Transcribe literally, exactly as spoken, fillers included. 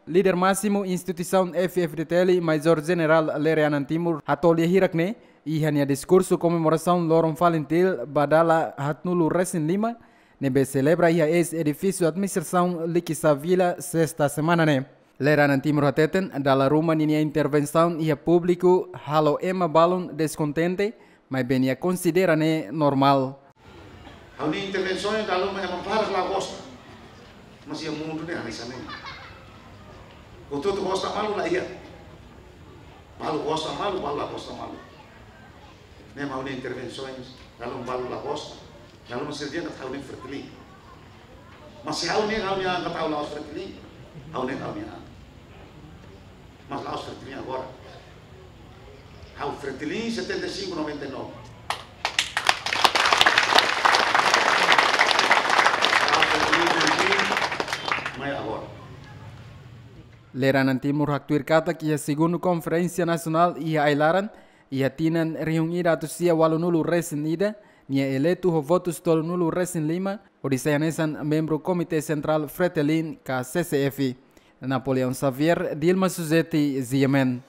Líder másimu instituisaun F-FDTL, Maizór Jenerál Lere Anan Timur, hato'o lia hirak ne'e iha nia diskursu komemorasaun loron FALINTIL ba dala haatnulu-resin-lima, ne'ebé selebra iha eis-edifísiu administrasaun Likisá Vila, sesta semana ne'e. Lere Anan Timur hateten, dala ruma ninia intervensaun iha públiku halo ema balun deskontente, maibé nia konsidera ne'e normál. Ha'u-nia intervensaun dala ruma ema barak la gosta. Mas iha mundu ne'e hanesan ne'e. Hotu-hotu gosta malu la iha. Balu gosta malu, balu la gosta malu. Ne'e mak ha'u-nia intervensaun, dala ruma balu la gosta. Dala ruma sira dehan katak ha'u ne'e Fretilin. Mas se ha'u ne'e, ha'u-nia an katak ha'u la'ós Fretilin, ha'u ne'e ha'u-nia an. Mas la'ós Fretilin agora. Ha'u Fretilin setenta e cinco, noventa e nove. Ha'u Fretilin, Fretilin, mai agora. Lere Anan Timur haktuir katak iha segundu konferénsia nasionál iha ai-laran, iha tinan rihun ida atus sia ualunulu-resin-ida, nia eleitu ho votus tolunulu-resin-lima, hodi sai hanesan membru Komité Sentrál Fretilin ka C C F. Napoleão Xavier, Dilma Suzeti, G M N.